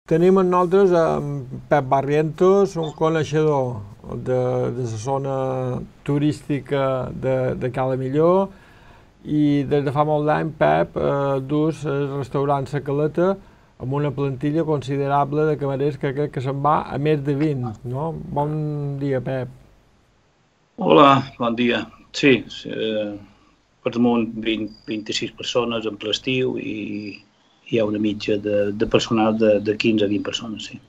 Tenim amb nosaltres Pep Barrientos, un coneixedor de la zona turística de Cala Millor, i des de fa molt d'any, Pep, dus el restaurant La Caleta amb una plantilla considerable de camarers que crec que se'n va a més de 20, no? Bon dia, Pep. Hola, bon dia. Sí, per damunt 26 persones en ple estiu i hi ha una mitja de personal de 15 a 20 persones, sí.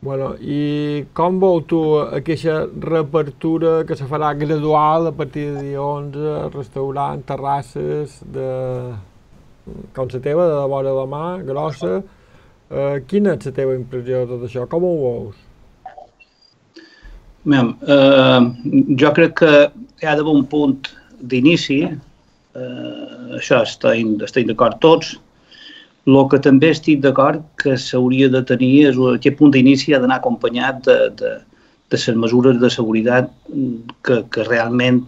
Bueno, i com veu tu aquesta reapertura que se farà gradual a partir de dia 11, restaurants, terrasses, com la teva, de la vora de la mar, grossa? Quina és la teva impressió de tot això? Com ho veus? Jo crec que hi ha d'haver un punt d'inici, això estem d'acord tots. El que també estic d'acord que s'hauria de tenir és aquest punt d'inici ha d'anar acompanyat de les mesures de seguretat que realment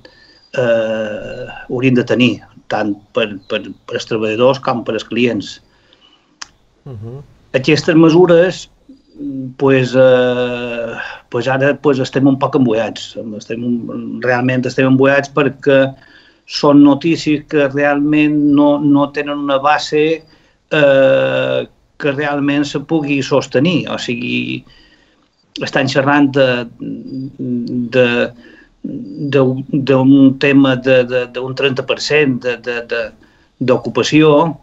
haurien de tenir, tant per als treballadors com per als clients. Aquestes mesures, ara estem un poc emboiats. Realment estem emboiats perquè són notícies que realment no tenen una base que realment se pugui sostenir. O sigui, estan xerrant d'un tema d'un 30% d'ocupació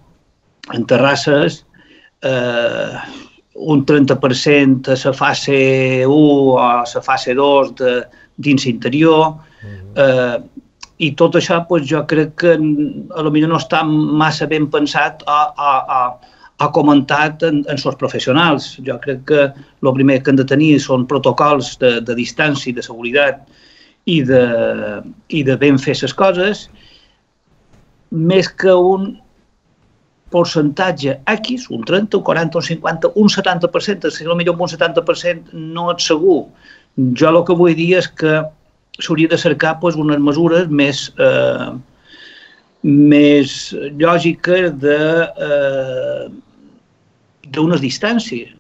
en terrasses, un 30% a la fase 1 o a la fase 2 dins l'interior, i tot això jo crec que potser no està massa ben pensat o comentat en els professionals. Jo crec que el primer que han de tenir són protocols de distància i de seguretat i de ben fer les coses, més que un percentatge X, un 30, un 40, un 50, un 70%, si potser un 70% no és segur. Jo el que vull dir és que s'hauria de cercar unes mesures més lògiques d'unes distàncies,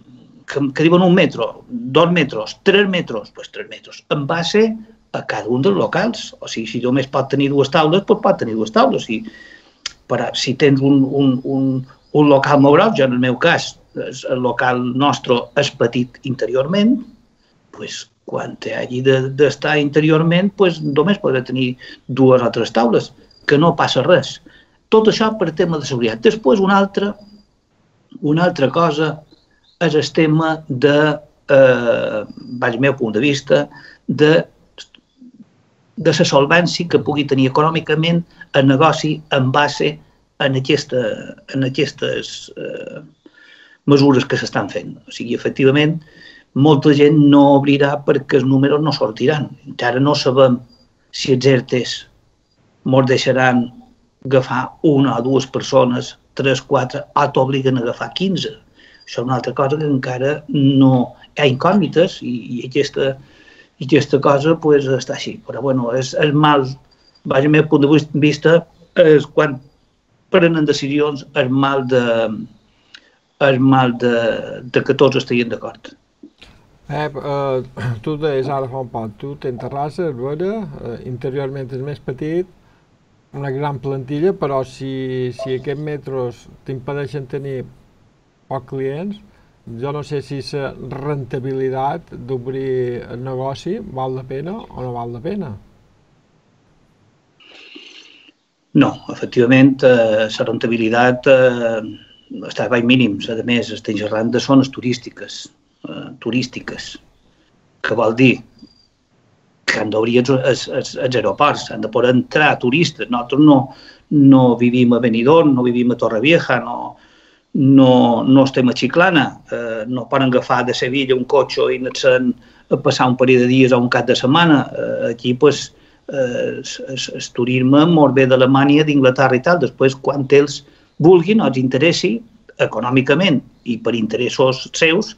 que diuen 1 metre, 2 metres, 3 metres, 3 metres, en base a cada un dels locals. O sigui, si només pot tenir 2 taules, pot tenir 2 taules. Si tens un local molt gros, jo en el meu cas, el local nostre és petit interiorment, quan hagi d'estar interiorment, només podrà tenir 2 o 3 taules, que no passa res. Tot això per tema de seguretat. Després, una altra cosa és el tema del meu punt de vista, de la solvència que pugui tenir econòmicament el negoci en base en aquestes mesures que s'estan fent. O sigui, efectivament, molta gent no obrirà perquè els números no sortiran. Encara no sabem si els ERTEs ens deixaran agafar 1 o 2 persones, 3, 4, o t'obliguen a agafar 15. Això és una altra cosa que encara no hi ha incògnites i aquesta cosa està així. Però bueno, és el mal, des del meu punt de vista, és quan prenen decisions el mal de que tots estiguin d'acord. Pep, tu deies ara fa un poc, tu tens terrassa, és vera, interiorment és més petit, una gran plantilla, però si aquests metres t'impedeixen tenir pocs clients, jo no sé si la rentabilitat d'obrir el negoci val la pena o no val la pena. No, efectivament, la rentabilitat està a baix mínims. A més, estem xerrant de zones turístiques, que vol dir que han d'obrir els aeroports, han de poder entrar turistes. Nosaltres no vivim a Benidorm, no vivim a Torrevieja, no estem a Chiclana, no poden agafar de Sevilla un cotxe i anar-se'n a passar un parell de dies o un cap de setmana. Aquí, el turisme molt bé d'Alemanya, d'Inglaterra i tal. Després, quan ells vulguin o els interessi econòmicament i per interessos seus,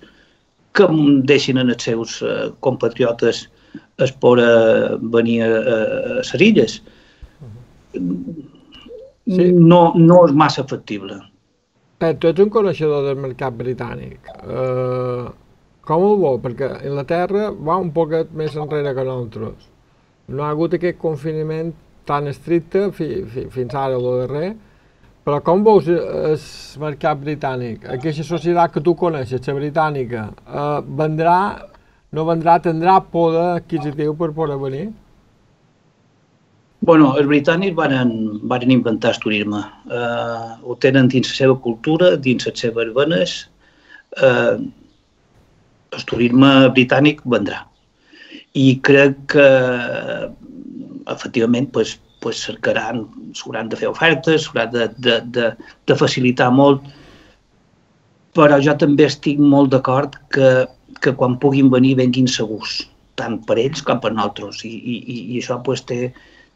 que deixin els seus compatriotes es poder venir a les illes. No és massa factible. Pep, tu ets un coneixedor del mercat britànic. Com ho veu? Perquè Anglaterra va un poquet més enrere que nosaltres. No ha hagut aquest confinament tan estricte fins ara, el darrer. Però com veus el mercat britànic? Aquesta societat que tu coneixes, la britànica, vendrà, no vendrà, tindrà poder adquisitiu per poder venir? Bueno, els britànics van inventar el turisme. Ho tenen dins la seva cultura, dins les seves venes. El turisme britànic vendrà. I crec que, efectivament, s'hauran de fer ofertes, s'hauran de facilitar molt, però jo també estic molt d'acord que quan puguin venir venguin segurs, tant per ells com per nosaltres, i això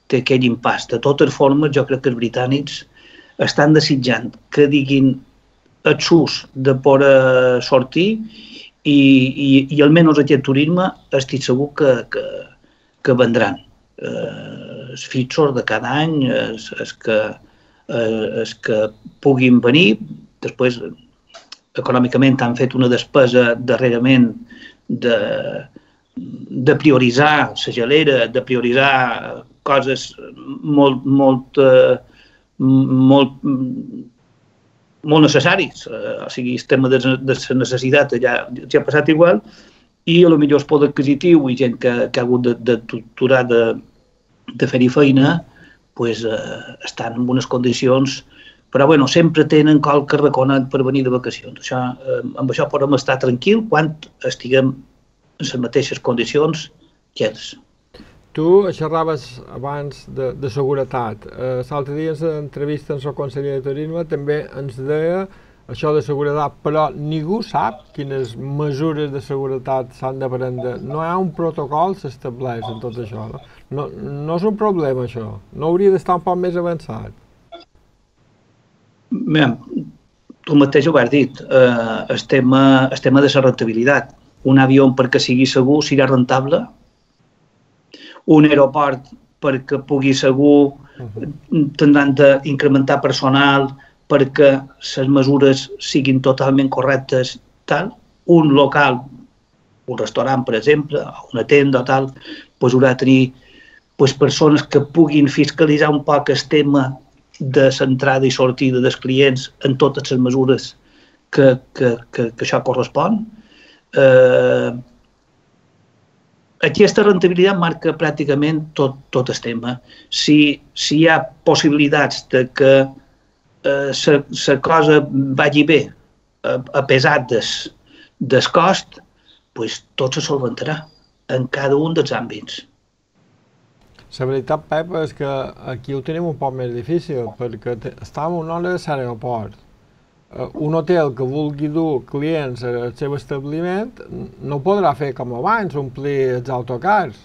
té aquell impàs. De totes formes, jo crec que els britànics estan desitjant que diguin el sus de poder sortir i almenys aquest turisme estic segur que vendran. Els fixos de cada any, els que puguin venir, després econòmicament han fet una despesa darrerament de prioritzar la gelera, de prioritzar coses molt necessaris. O sigui, el tema de la necessitat ja ha passat igual i potser el poder adquisitiu i gent que ha hagut de torturar de fer-hi feina estan en unes condicions, però sempre tenen qualque raconet per venir de vacacions. Amb això podem estar tranquils quan estiguem en les mateixes condicions que ells. Tu xerraves abans de seguretat. L'altre dia en l'entrevista amb el conseller de Turisme també ens deia això de seguretat, però ningú sap quines mesures de seguretat s'han de prendre. No hi ha un protocol s'estableix en tot això. No és un problema, això. No hauria d'estar un poc més avançat. Tu mateix ho has dit. El tema de la rentabilitat. Un avió perquè sigui segur serà rentable. Un aeroport perquè pugui segur tindran d'incrementar personal perquè les mesures siguin totalment correctes. Un local, un restaurant, per exemple, una tenda o tal, haurà de tenir persones que puguin fiscalitzar un poc el tema de l'entrada i sortida dels clients en totes les mesures que això correspon. Aquesta rentabilitat marca pràcticament tot el tema. Si hi ha possibilitats de que la cosa vagi bé a pesar del cost, tot se solventarà en cada un dels àmbits. La veritat, Pep, és que aquí ho tenim un poc més difícil, perquè estem a una hora de l'aeroport. Un hotel que vulgui dur clients al seu establiment no podrà fer com abans, omplir els autocars.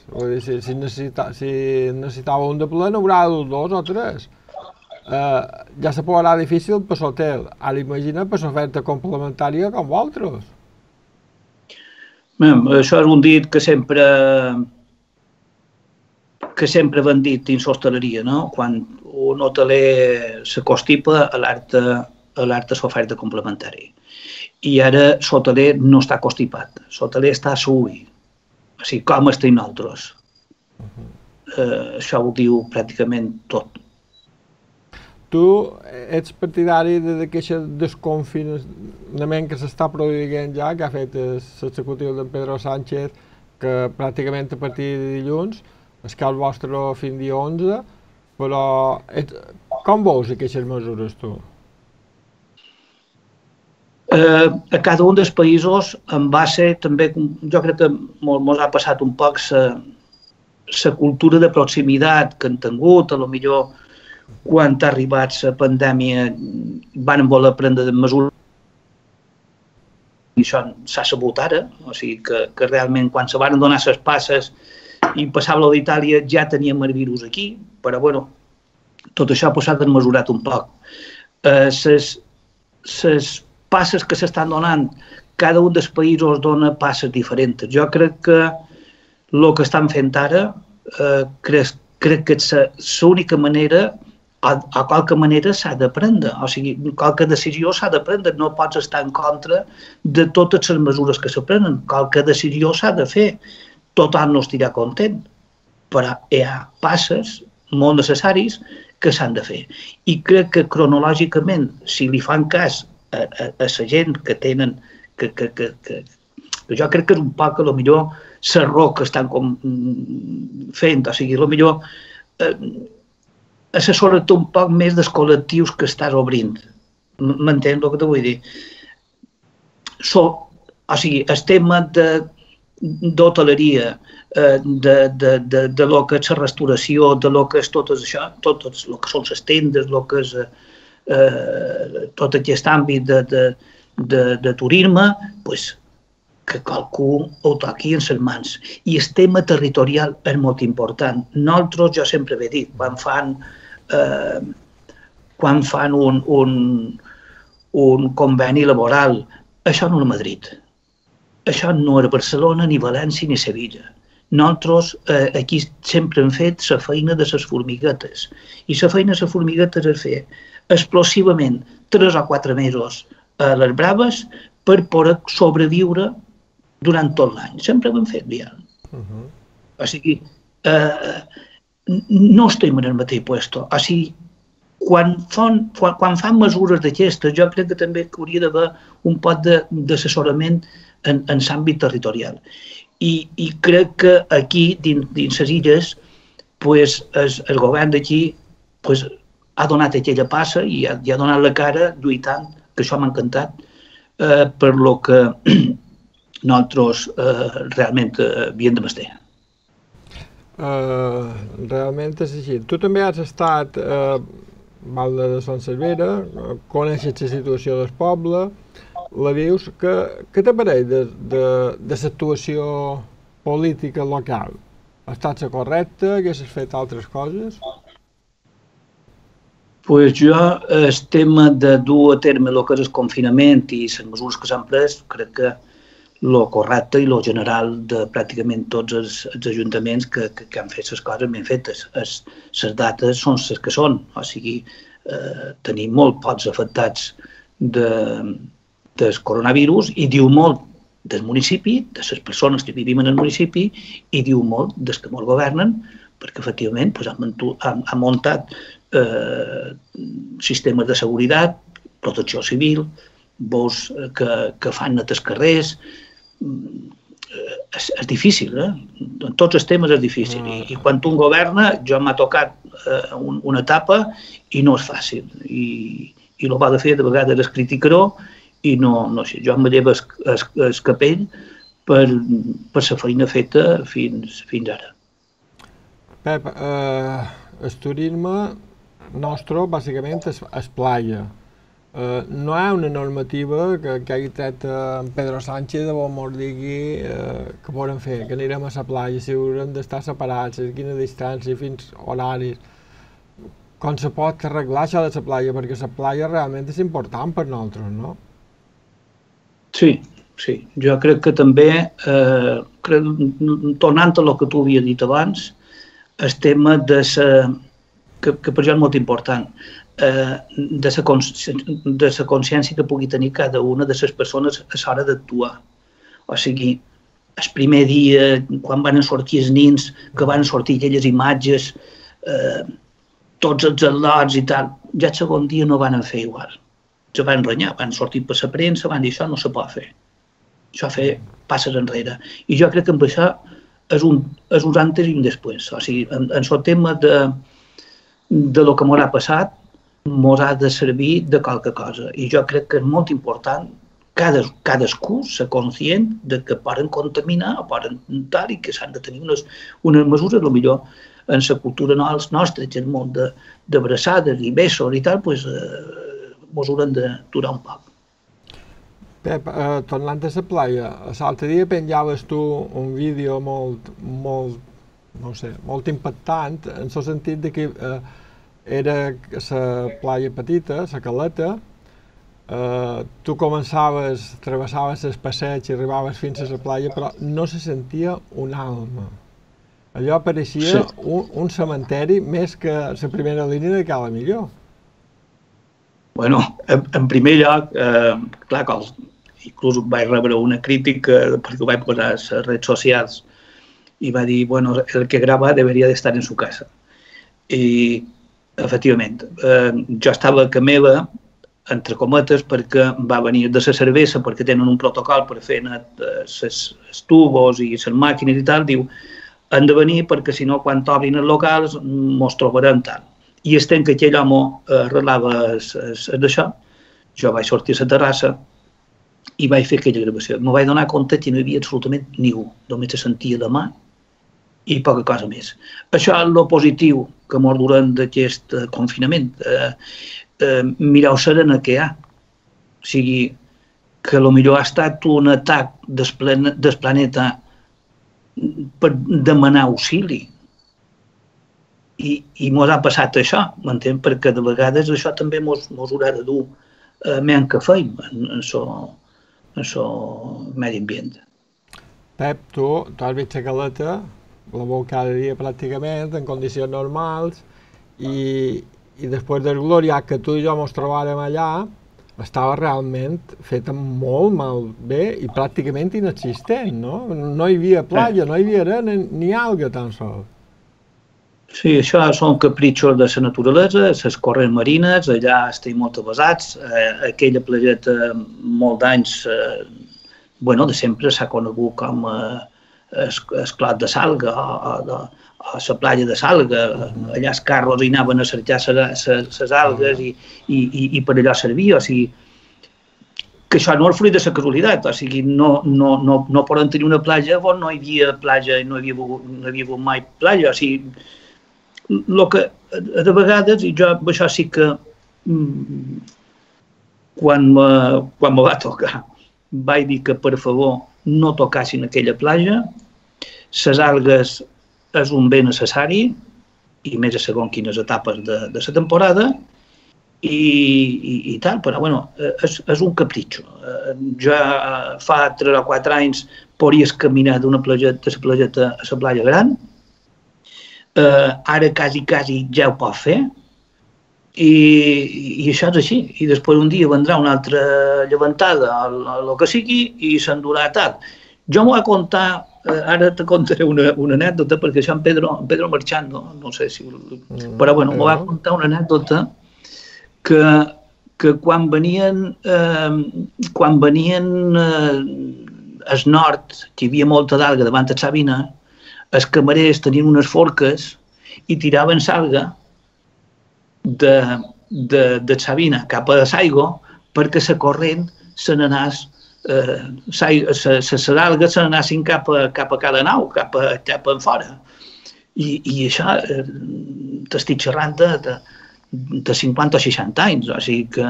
Si necessitava un de ple, n'haurà de dur 2 o 3. Ja se posarà difícil per l'hotel. Ara imagina per l'oferta complementària com vosaltres. Això és un dit que sempre van dir dins l'hostaleria, no? Quan un hoteler s'acostipa a l'oferta complementària. I ara l'hoteler no està constipat, l'hoteler està a l'ull, o sigui, com estem nosaltres. Això ho diu pràcticament tot. Tu ets partidari d'aquest desconfinament que s'està produint ja, que ha fet l'executiu d'en Pedro Sánchez, que pràcticament a partir de dilluns és que el vostre fins dia 11, però com veus aquestes mesures tu? A cada un dels països en base també, jo crec que ens ha passat un poc la cultura de proximitat que han tingut, potser quan ha arribat la pandèmia van voler prendre mesures i això s'ha sabut ara, o sigui que realment quan se van donar les passes i passava d'Itàlia ja teníem el virus aquí, però bueno, tot això s'ha desmesurat un poc. Les passes que s'estan donant, cada un dels països dona passes diferents. Jo crec que el que estan fent ara, crec que és l'única manera a qualque manera s'ha de prendre, o sigui, qualque decisió s'ha de prendre, no pots estar en contra de totes les mesures que se prenen, qualque decisió s'ha de fer, tothom no estirà content, però hi ha passes molt necessaris que s'han de fer. I crec que cronològicament, si li fan cas a la gent que tenen, que jo crec que és un poc, potser, l'error que estan fent, o sigui, potser assessora-te un poc més dels col·lectius que estàs obrint. M'entens el que te vull dir? O sigui, el tema d'hoteleria, de lo que és la restauració, de lo que és tot això, tot el que són les tendes, el que és tot aquest àmbit de turisme, doncs que qualcú ho toqui en les mans. I el tema territorial és molt important. Nosaltres, jo sempre he dit, quan fan un conveni laboral, això no és Madrid. Això no és Barcelona, ni València, ni Sevilla. Nosaltres aquí sempre hem fet la feina de les formiguetes. I la feina de les formiguetes és fer explosivament 3 o 4 mesos a les braves per poder sobreviure durant tot l'any. Sempre ho hem fet, Biel. O sigui, no estem en el mateix puesto. O sigui, quan fan mesures d'aquestes, jo crec que també hauria d'haver un poc d'assessorament en l'àmbit territorial. I crec que aquí, dins les illes, el govern d'aquí ha donat aquella passa i ha donat la cara lluitant, que això m'ha encantat, per lo que nosaltres realment havíem de mestre. Realment és així. Tu també has estat a Valde de Son Cervera, coneixes la situació del poble, la vius. Què t'apareix de l'actuació política local? Ha estat la correcta? Haguessis fet altres coses? Pues jo, el tema de dur a terme el que és el confinament i les mesures que s'han pres, crec que el correcte i el general de pràcticament tots els ajuntaments que han fet les coses ben fetes. Les dates són les que són, o sigui, tenim molt pocs afectats del coronavirus i diu molt del municipi, de les persones que vivim en el municipi, i diu molt dels que molt governen, perquè efectivament han muntat sistemes de seguretat, protecció civil, veus que fan net els carrers. És difícil, en tots els temes és difícil. I quan un governa, jo m'ha tocat una etapa i no és fàcil. I el que ha de fer de vegades és criticar-ho i no sé, jo em llevo el capell per la feina feta fins ara. Pep, el turisme nostre, bàsicament, és playa. No hi ha una normativa que hagi tret en Pedro Sánchez de bon mort digui que podem fer, que anirem a la playa, si haurem d'estar separats, a quina distància, fins horaris. Com se pot arreglar això de la playa? Perquè la playa realment és important per nosaltres, no? Sí. Jo crec que també, tornant a el que tu havies dit abans, el tema que per jo és molt important, de la consciència que pugui tenir cada una de les persones a l'hora d'actuar. O sigui, el primer dia, quan van sortir els nins, que van sortir aquelles imatges, tots els al·lots i tal, ja el segon dia no van fer igual. Se van renyar, van sortir per la premsa, van dir això no se pot fer. Això fer passes enrere. I jo crec que amb això és un antes i un després. O sigui, en el tema de lo que m'ha passat, ens ha de servir de qualque cosa. I jo crec que és molt important cadascú ser conscient de que poden contaminar o poden tal i que s'han de tenir unes mesures, potser en la cultura nostra, que és molt d'abraçades i besos i tal, doncs ens haurem de durar un poc. Pep, tornant a la playa, l'altre dia penjaves tu un vídeo molt impactant, en el sentit que era la playa petita, la caleta, tu travessaves el passeig i arribaves fins a la playa, però no se sentia un alma. Allò pareixia un cementeri més que la primera línia de Cala Millor. Bueno, en primer lloc, clar, inclús vaig rebre una crítica perquè ho vaig posar a les redes socials i va dir, bueno, el que grava deberia d'estar en su casa. I, efectivament, jo estava a Camela, entre cometes, perquè va venir de la cervesa, perquè tenen un protocol per fer els tubos i les màquines i tal, diu, han de venir perquè si no, quan obrin els locals, mos trobarem tal. I estem que aquell home arreglava d'això, jo vaig sortir a la terrassa i vaig fer aquella gravació. M'ho vaig donar compte que no hi havia absolutament ningú, només se sentia de mà i poca cosa més. Això és el positiu que mos durant d'aquest confinament. Mireu serena que hi ha. O sigui, que potser ha estat un atac del planeta per demanar auxili. I mos ha passat això, m'entén? Perquè de vegades això també mos haurà de dur menys que feim en el medi ambient. Pep, tu has vist la caleta, la veu cada dia pràcticament, en condicions normals, i després del gloriat que tu i jo mos trobàrem allà, estava realment feta molt malbé i pràcticament inexistent, no? No hi havia platja, no hi havia arena ni alga tan sols. Sí, això són capritxos de la naturalesa, les corrents marines, allà estem molt avasats, aquella platgeta molt d'anys, de sempre s'ha conegut com el clot de Salga o la platja de Salga, allà els carros hi anaven a cercar les algues i per allò servia, o sigui, que això no és fruit de la casualitat, o sigui, no poden tenir una platja on no hi havia platja i no hi havia hagut mai platja, o sigui, el que de vegades, i jo això sí que quan me va tocar vaig dir que per favor no tocassin aquella platja, les algues és un bé necessari i més a segons quines etapes de la temporada i tal, però bueno, és un capritxo. Jo fa 3 o 4 anys podries caminar d'una platgeta a la platja gran. Ara quasi ja ho pot fer i això és així. I després un dia vendrà una altra llevantada o el que sigui i s'endurà tal. Jo m'ho vaig contar, ara te contaré una anècdota perquè això en Pedro Marchando, no sé si... Però bueno, m'ho vaig contar una anècdota que quan venien al nord, que hi havia molta d'alga davant de Sabina, els camarers tenien unes forques i tiraven l'alga de Sabina cap a Saigo perquè la corrent se n'anés, les algues se n'anessin cap a cada nau, cap en fora. I això t'estic xerrant de 50 o 60 anys, o sigui que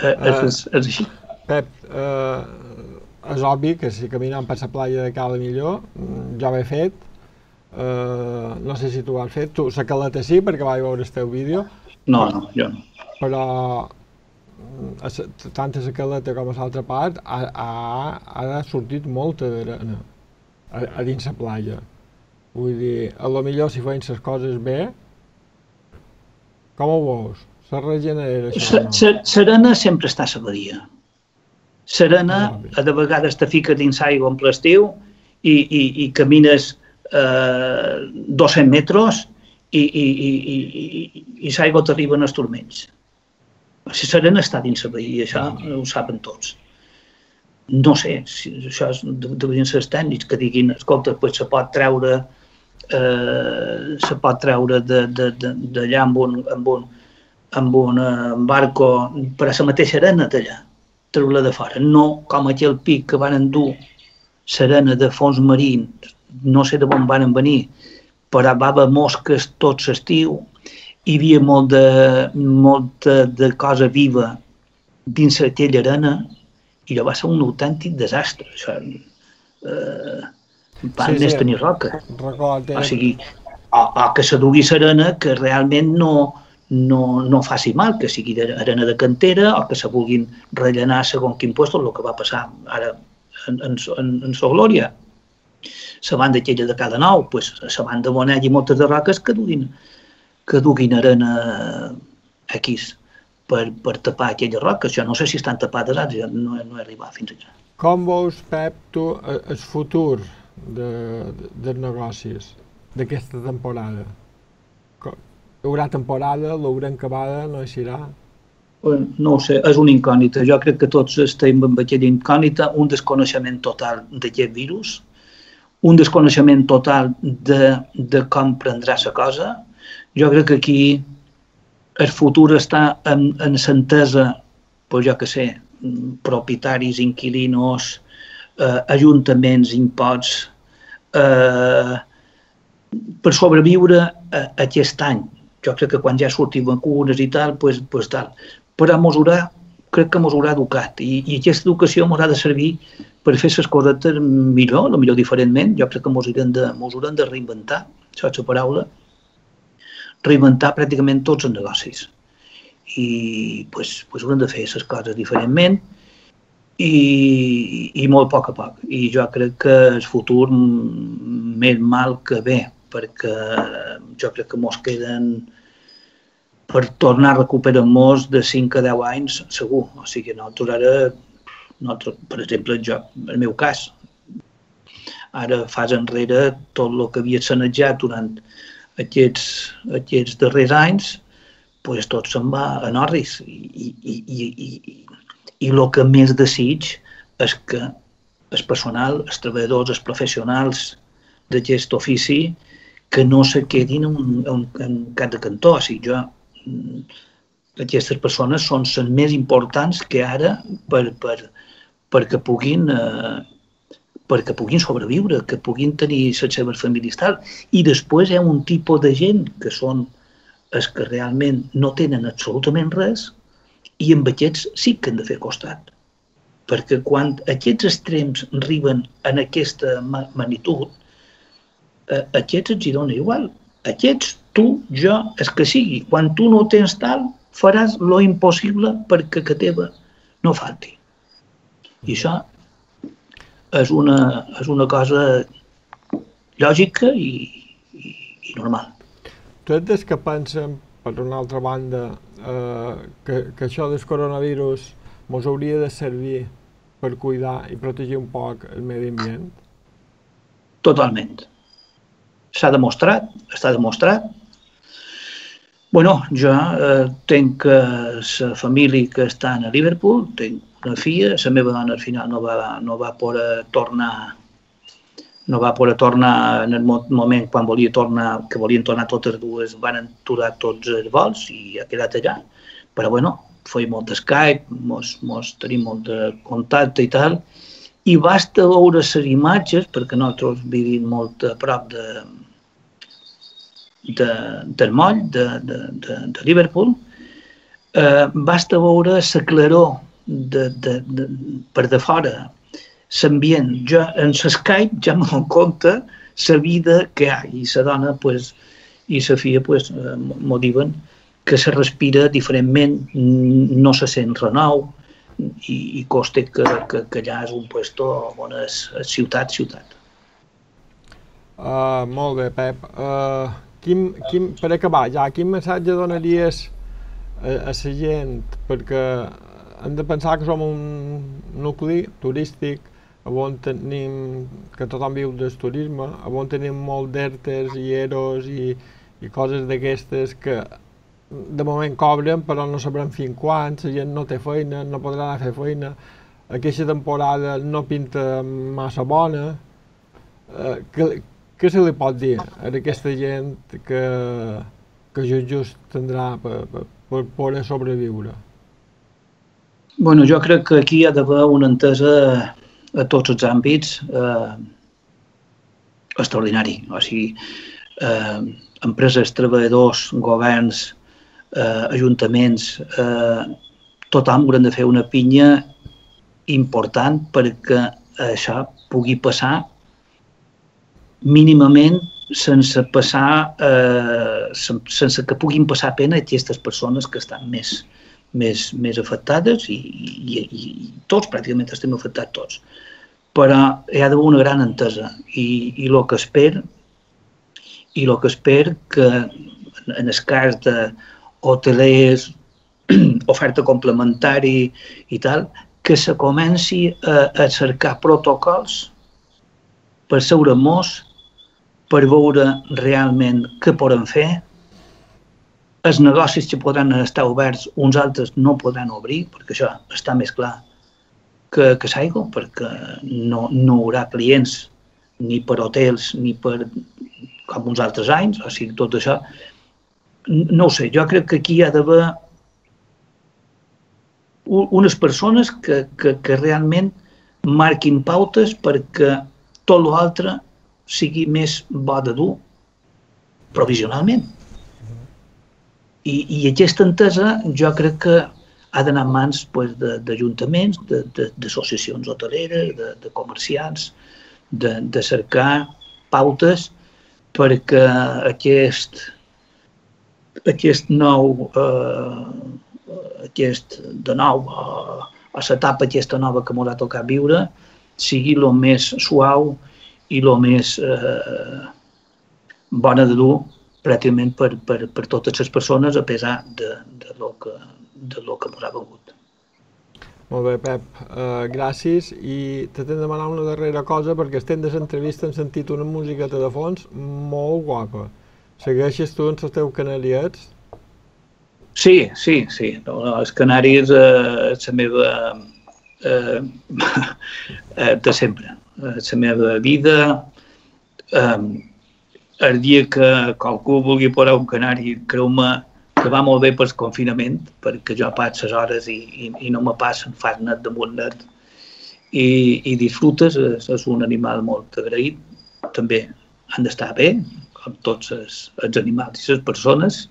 és així. Pep, és obvi que si caminem per la platja de Cala Millor, ja ho he fet, no sé si tu ho has fet, tu la caleta sí, perquè vaig veure el teu vídeo. No, jo no. Però tant a la caleta com a l'altra part ha sortit molta d'arena a dins la platja. Vull dir, a lo millor si feien les coses bé, com ho veus? Se regenera això o no? Serena sempre està a la badia. Serena, de vegades te fiques dins l'aigua en l'estiu i camines 200 metres i l'aigua t'arriben els turmells. Si Serena està dins la badia, això ho saben tots. No sé, si això deurien ser els tècnics que diguin, escolta, se pot treure d'allà amb un barco per a la mateixa arena d'allà. Treure-la de fora, no com aquell pic que van endur l'arena de fons marín, no sé d'on van venir, però va haver mosques tot l'estiu, hi havia molta de cosa viva dins aquella arena i allò va ser un autèntic desastre. Això va més tenir roca. O sigui, o que s'adugui l'arena que realment no faci mal, que sigui arena de cantera o que se vulguin rellenar segons quin lloc, el que va passar ara en sa glòria. la banda aquella de cada nou, pues, la banda Bonell i moltes de roques que duguin arena X per tapar aquelles roques. Jo no sé si estan tapades ara, jo no he arribat fins allà. Com veus, Pep, tu, el futur dels negocis d'aquesta temporada? Hi haurà temporada, l'haurem acabada, no hi serà? No ho sé, és una incògnita. Jo crec que tots estem amb aquella incògnita, un desconeixement total d'aquest virus, un desconeixement total de com prendrà la cosa. Jo crec que aquí el futur està en l'entesa, pues jo què sé, propietaris, inquilinos, ajuntaments, imposts, per sobreviure aquest any. Jo crec que quan ja surtin vacunes i tal, pues tal. Però crec que ens haurà educat i aquesta educació ens ha de servir per fer les coses millor, potser diferentment. Jo crec que ens haurem de reinventar, això és la paraula, reinventar pràcticament tots els negocis. I pues haurem de fer les coses diferentment i molt a poc. I jo crec que el futur més mal que bé, perquè jo crec que ens queden per tornar a recuperar-nos de 5 a 10 anys segur. O sigui, nosaltres ara, per exemple, el meu cas, ara fas enrere tot el que havia sanejat durant aquests darrers anys, pues tot se'n va a Norris. I el que més desig és que el personal, els treballadors, els professionals d'aquest ofici, que no se quedin en cap de cantó. O sigui, aquestes persones són les més importants que ara perquè puguin sobreviure, que puguin tenir les seves famílies tal. I després hi ha un tipus de gent que són els que realment no tenen absolutament res i amb aquests sí que han de fer costat. Perquè quan aquests extrems arriben en aquesta magnitud, aquests ens hi dona igual. Aquests, tu, jo, el que sigui. Quan tu no tens tal, faràs lo impossible perquè que teva no falti. I això és una cosa lògica i normal. Tu ets des que pensen, per una altra banda, que això del coronavirus ens hauria de servir per cuidar i protegir un poc el medi ambient? Totalment. S'ha demostrat, està demostrat. Bueno, jo tinc la família que està a Liverpool, tinc una filla, la meva dona al final no va poder tornar en el moment quan volien tornar totes dues, van aturar tots els vols i ha quedat allà. Però bueno, feim molt de Skype, tenim molt de contacte i tal, i basta veure les imatges, perquè nosaltres vivim molt a prop del moll de Liverpool, basta veure la claror per de fora, l'ambient. Jo en l'Skype ja me dono compte la vida que hi ha i la dona i la filla m'ho diuen que se respira diferentment, no se sent renou i costa que allà és un lloc on és ciutat. Molt bé, Pep. Per acabar, quin missatge donaries a la gent? Perquè hem de pensar que som un nucli turístic, on tenim, que tothom viu del turisme, on tenim molt d'ERTEs i EROs i coses d'aquestes que de moment cobren, però no sabrem fins quan, la gent no té feina, no podrà anar a fer feina, aquesta temporada no pinta massa bona. Què se li pot dir a aquesta gent que just tindrà per poder sobreviure? Bueno, jo crec que aquí hi ha d'haver una entesa a tots els àmbits extraordinari. O sigui, empreses, treballadors, governs, ajuntaments, tothom haurem de fer una pinya important perquè això pugui passar mínimament sense que puguin passar pena aquestes persones que estan més afectades i tots, pràcticament estem afectats tots. però hi ha d'haver una gran entesa i el que espero que en el cas d'hotelers, oferta complementari i tal, que se comenci a cercar protocols per seure-nos, per veure realment què podem fer. Els negocis que podran estar oberts, uns altres no podran obrir, perquè això està més clar que s'aigua, perquè no hi haurà clients ni per hotels ni per com uns altres anys, o sigui, tot això. No ho sé, jo crec que aquí hi ha d'haver unes persones que realment marquin pautes perquè tot l'altre sigui més bo de dur provisionalment. I aquesta entesa jo crec que ha d'anar en mans d'ajuntaments, d'associacions hoteleres, de comerciants, de cercar pautes perquè de nou, a l'etapa aquesta nova que ens ha tocat viure, sigui el més suau i el més bona de dur pràcticament per totes les persones, a pesar de lo que ens ha vengut. Molt bé, Pep, gràcies, i t'he de demanar una darrera cosa, perquè estem de l'entrevista hem sentit una musiqueta de fons molt guapa. Segueixes tu en els teus canariets? Sí. Els canaris és la meva de sempre, la meva vida. El dia que qualcú vulgui posar un canari, creu-me que va molt bé pel confinament, perquè jo passo les hores i no me passen, fas net damunt net i disfrutes, és un animal molt agraït, també han d'estar bé, com tots els animals i les persones,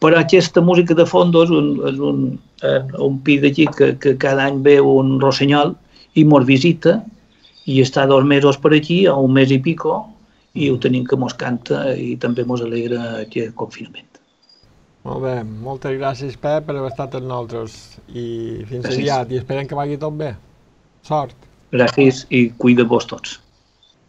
però aquesta música de fons és un pi d'aquí que cada any ve un rossinyol i mos visita i està 2 mesos per aquí, o 1 mes i pico, i ho tenim que mos canta i també mos alegra aquest confinament. Molt bé, moltes gràcies, Pep, per haver estat amb nosaltres i fins aviat, i esperem que vagi tot bé. Sort! Gràcies i cuida-vos tots.